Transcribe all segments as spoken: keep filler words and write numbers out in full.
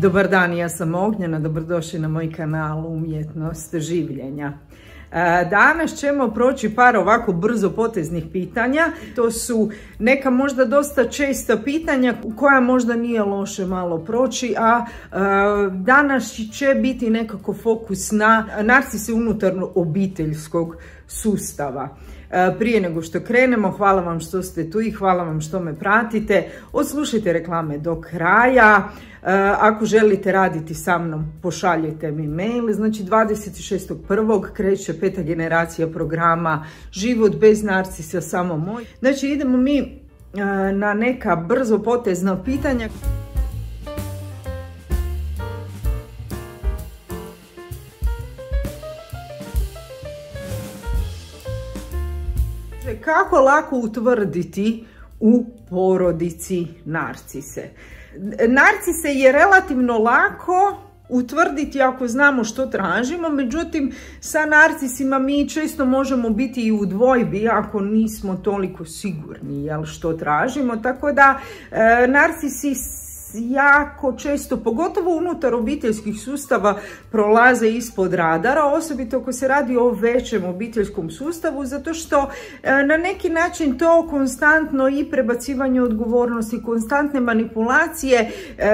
Dobar dan, ja sam Ognjena, dobrodošli na moj kanal Umjetnost življenja. Danas ćemo proći par ovako brzo poteznih pitanja. To su neka možda dosta česta pitanja koja možda nije loše malo proći, a danas će biti nekako fokus na narcise unutar obiteljskog sustava. Prije nego što krenemo, hvala vam što ste tu i hvala vam što me pratite. Odslušajte reklame do kraja. Ako želite raditi sa mnom, pošaljite mi mail. Znači dvadeset šestog prvog kreće peta generacija programa Život bez narcisa, samo moj. Znači idemo mi na neka brzo potezna pitanja. Kako lako utvrditi u porodici narcise? Narcise je relativno lako utvrditi ako znamo što tražimo, međutim sa narcisima mi često možemo biti i u dvojbi ako nismo toliko sigurni jel, što tražimo, tako da e, narcisi jako često, pogotovo unutar obiteljskih sustava, prolaze ispod radara, osobito ako se radi o većem obiteljskom sustavu, zato što na neki način to konstantno i prebacivanje odgovornosti, konstantne manipulacije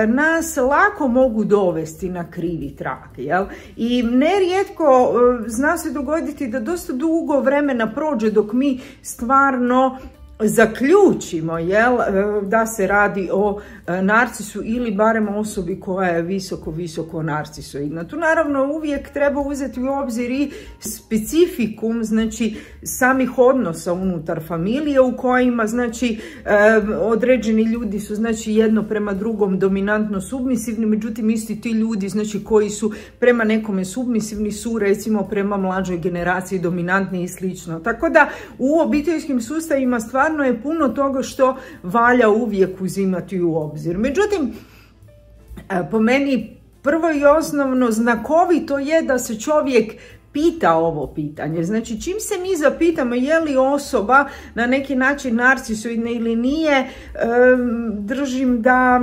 nas lako mogu dovesti na krivi trag. Jel? I nerijetko zna se dogoditi da dosta dugo vremena prođe dok mi stvarno zaključimo jel, da se radi o narcisu ili barem osobi koja je visoko, visoko narcisoidna. Tu naravno uvijek treba uzeti u obzir i specifikum, znači samih odnosa unutar familije u kojima znači određeni ljudi su znači jedno prema drugom dominantno submisivni, međutim isti ti ljudi znači koji su prema nekome submisivni su recimo prema mlađoj generaciji dominantni i slično. Tako da u obiteljskim sustavima stvarno je puno toga što valja uvijek uzimati u obzir. Međutim, po meni prvo i osnovno znakovito je da se čovjek pita ovo pitanje. Znači, čim se mi zapitamo je li osoba na neki način narcisoidna ili nije, držim da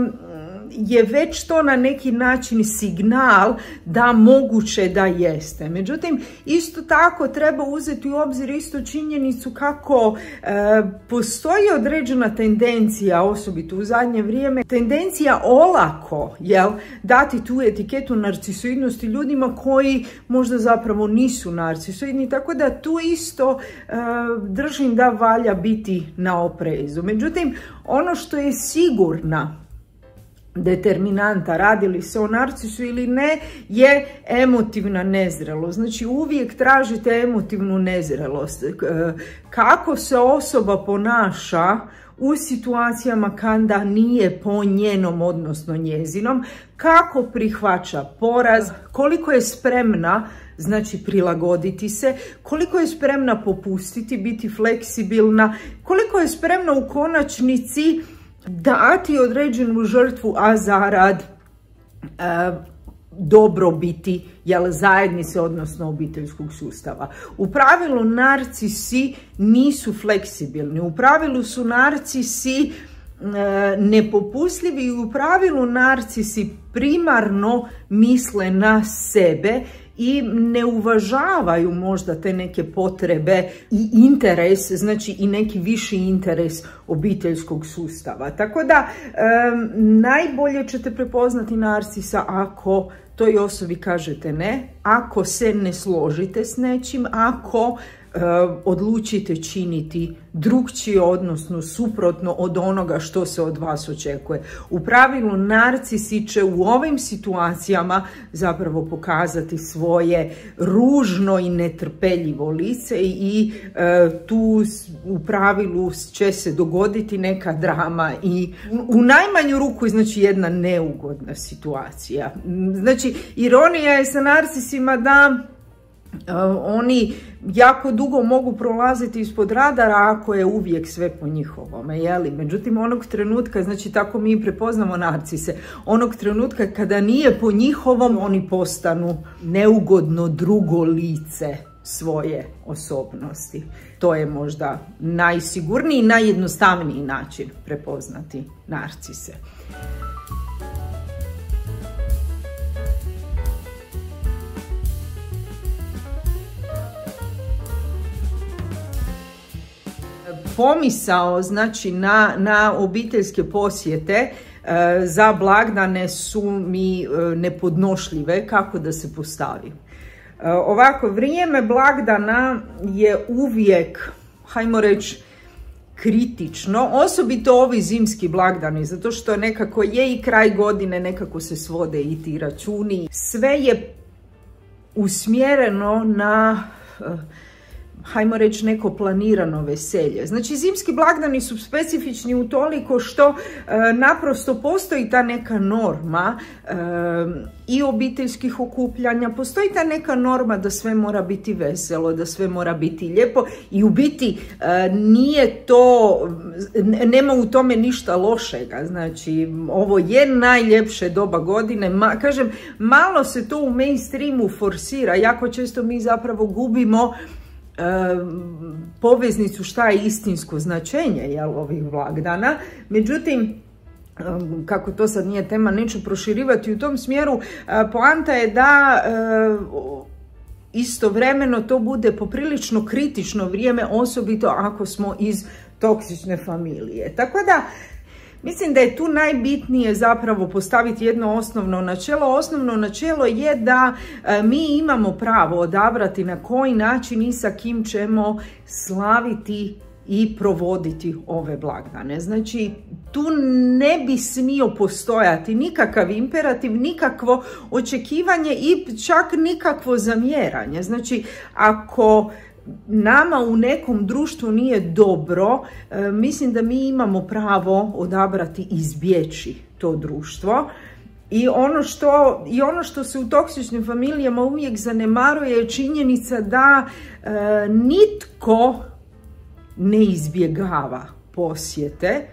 je već to na neki način signal da moguće da jeste. Međutim, isto tako treba uzeti u obzir isto činjenicu kako e, postoji određena tendencija, osobito u zadnje vrijeme, tendencija olako jel, dati tu etiketu narcisoidnosti ljudima koji možda zapravo nisu narcisoidni, tako da tu isto e, držim da valja biti na oprezu. Međutim, ono što je sigurna determinanta, radi li se o narcisu ili ne, je emotivna nezrelost. Znači uvijek tražite emotivnu nezrelost. Kako se osoba ponaša u situacijama kada nije po njenom, odnosno njezinom, kako prihvaća poraz, koliko je spremna znači prilagoditi se, koliko je spremna popustiti, biti fleksibilna, koliko je spremna u konačnici dati određenu žrtvu, a zarad e, dobrobiti jel, zajednice, odnosno obiteljskog sustava. U pravilu narcisi nisu fleksibilni, u pravilu su narcisi e, nepopustljivi i u pravilu narcisi primarno misle na sebe i ne uvažavaju možda te neke potrebe i interes, znači i neki viši interes obiteljskog sustava. Tako da um, najbolje ćete prepoznati narcisa ako toj osobi kažete ne, ako se ne složite s nečim, ako uh, odlučite činiti drukčije, odnosno suprotno od onoga što se od vas očekuje. U pravilu narcisi će u ovim situacijama zapravo pokazati svoje ružno i netrpeljivo lice i e, tu u pravilu će se dogoditi neka drama i u najmanju ruku znači jedna neugodna situacija. Znači ironija je sa narcisima da Uh, oni jako dugo mogu prolaziti ispod radara ako je uvijek sve po njihovome, jeli? Međutim, onog trenutka, znači tako mi prepoznamo narcise, onog trenutka kada nije po njihovom, oni postanu neugodno drugo lice svoje osobnosti. To je možda najsigurniji i najjednostavniji način prepoznati narcise. pomisao znači na, na obiteljske posjete za blagdane su mi nepodnošljive, kako da se postavim. Ovako, vrijeme blagdana je uvijek, hajmo reći, kritično, osobito ovi zimski blagdani, zato što nekako je i kraj godine, nekako se svode i ti računi. Sve je usmjereno na, hajmo reći, neko planirano veselje. Znači, zimski blagdani su specifični utoliko što e, naprosto postoji ta neka norma e, i obiteljskih okupljanja, postoji ta neka norma da sve mora biti veselo, da sve mora biti lijepo i u biti e, nije to, nema u tome ništa lošega. Znači, ovo je najljepše doba godine. Ma, kažem, malo se to u mainstreamu forsira, jako često mi zapravo gubimo poveznicu šta je istinsko značenje, jel, ovih blagdana. Međutim, kako to sad nije tema, neću proširivati u tom smjeru. Poanta je da istovremeno to bude poprilično kritično vrijeme, osobito ako smo iz toksične familije. Tako da mislim da je tu najbitnije zapravo postaviti jedno osnovno načelo. Osnovno načelo je da e, mi imamo pravo odabrati na koji način i sa kim ćemo slaviti i provoditi ove blagdane. Znači, tu ne bi smio postojati nikakav imperativ, nikakvo očekivanje i čak nikakvo zamjeranje. Znači, ako nama u nekom društvu nije dobro, e, mislim da mi imamo pravo odabrati i izbjeći to društvo. I ono što, i ono što se u toksičnim familijama uvijek zanemaruje je činjenica da e, nitko ne izbjegava posjete,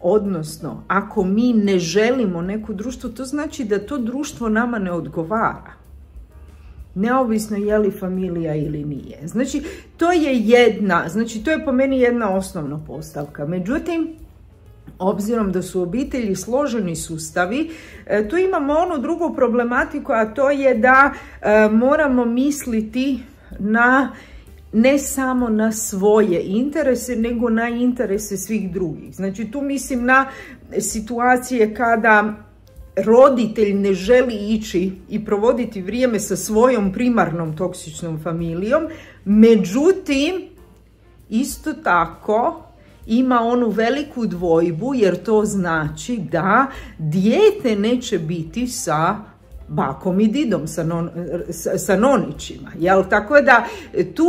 odnosno ako mi ne želimo neko društvo, to znači da to društvo nama ne odgovara. Neovisno je li familija ili nije. Znači, to je jedna, znači to je po meni jedna osnovna postavka. Međutim, obzirom da su obitelji složeni sustavi, tu imamo onu drugu problematiku, a to je da e, moramo misliti na ne samo na svoje interese, nego na interese svih drugih. Znači, tu mislim na situacije kada roditelj ne želi ići i provoditi vrijeme sa svojom primarnom toksičnom familijom, međutim, isto tako ima onu veliku dvojbu, jer to znači da dijete neće biti sa bakom i didom, sa, non, sa, sa nonićima. Jel? Tako da tu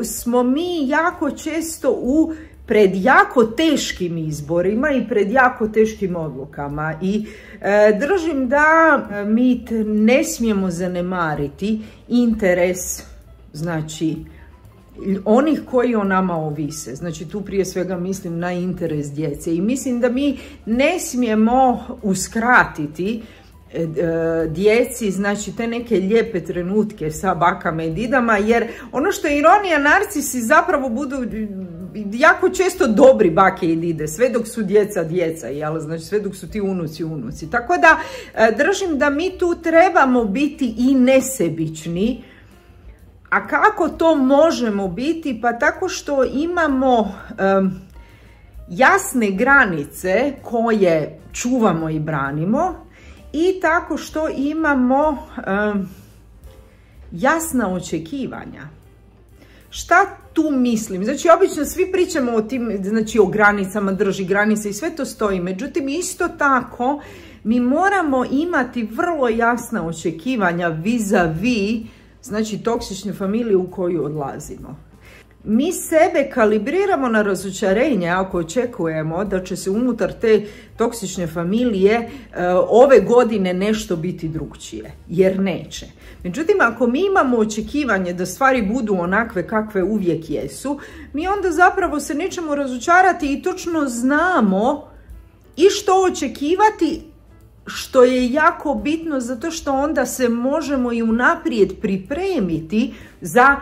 smo mi jako često u pred jako teškim izborima i pred jako teškim odlukama i e, držim da mi ne smijemo zanemariti interes, znači, onih koji o nama ovise. Znači, tu prije svega mislim na interes djece i mislim da mi ne smijemo uskratiti djeci, znači, te neke lijepe trenutke sa bakama i didama, jer ono što je ironija, narcisi zapravo budu jako često dobri bake i dide, sve dok su djeca djeca, jel? Znači, sve dok su ti unuci unuci. Tako da držim da mi tu trebamo biti i nesebični. A kako to možemo biti? Pa tako što imamo um, jasne granice koje čuvamo i branimo, i tako što imamo um, jasna očekivanja. Šta tu mislim? Znači, obično svi pričamo o tim, znači, o granicama, drži granice i sve to stoji. Međutim, isto tako mi moramo imati vrlo jasna očekivanja vis-a-vis, znači, toksične familije u koju odlazimo. Mi sebe kalibriramo na razočarenje ako očekujemo da će se unutar te toksične familije e, ove godine nešto biti drugčije, jer neće. Međutim, ako mi imamo očekivanje da stvari budu onakve kakve uvijek jesu, mi onda zapravo se nećemo razočarati i točno znamo i što očekivati, što je jako bitno zato što onda se možemo i unaprijed pripremiti za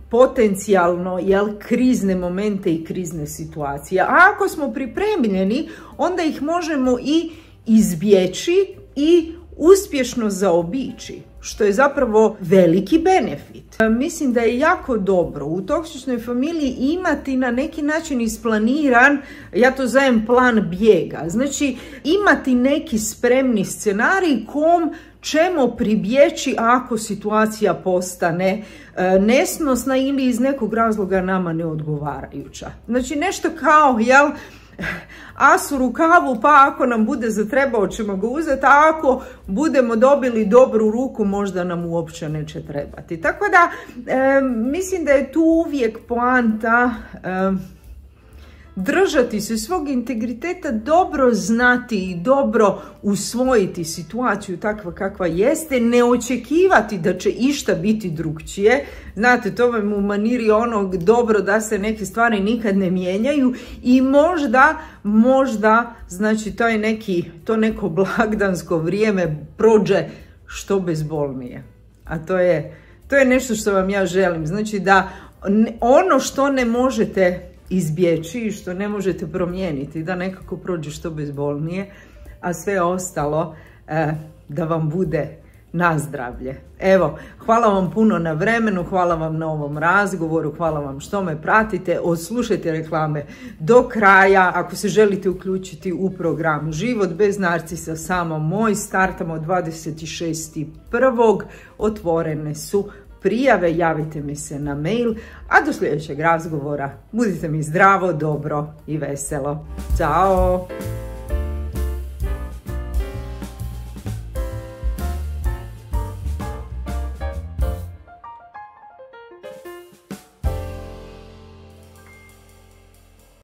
potencijalno, jel, krizne momente i krizne situacije. A ako smo pripremljeni, onda ih možemo i izbjeći i uspješno zaobići, što je zapravo veliki benefit. Mislim da je jako dobro u toksičnoj familiji imati na neki način isplaniran, ja to zovem plan bijega, znači imati neki spremni scenarij kom ćemo pribjeći ako situacija postane e, nesnosna ili iz nekog razloga nama neodgovarajuća. Znači nešto kao, jel, as u rukavu, pa ako nam bude zatrebao ćemo ga uzeti, a ako budemo dobili dobru ruku možda nam uopće neće trebati. Tako da e, mislim da je tu uvijek poanta e, držati se svog integriteta, dobro znati i dobro usvojiti situaciju takva kakva jeste, ne očekivati da će išta biti drugčije. Znate, to vam u maniri onog dobro da se neke stvari nikad ne mijenjaju i možda, možda, znači to je neki, to neko blagdansko vrijeme prođe što bezbolnije. A to je, to je nešto što vam ja želim. Znači da ono što ne možete izbjeći i što ne možete promijeniti, da nekako prođe što bezbolnije, a sve ostalo eh, da vam bude na zdravlje. Evo, hvala vam puno na vremenu, hvala vam na ovom razgovoru, hvala vam što me pratite, odslušajte reklame do kraja. Ako se želite uključiti u program Život bez narcisa, samo moj, startamo dvadeset šestog prvog otvorene su prijave, javite mi se na mail, a do sljedećeg razgovora budite mi zdravo, dobro i veselo. Ćao!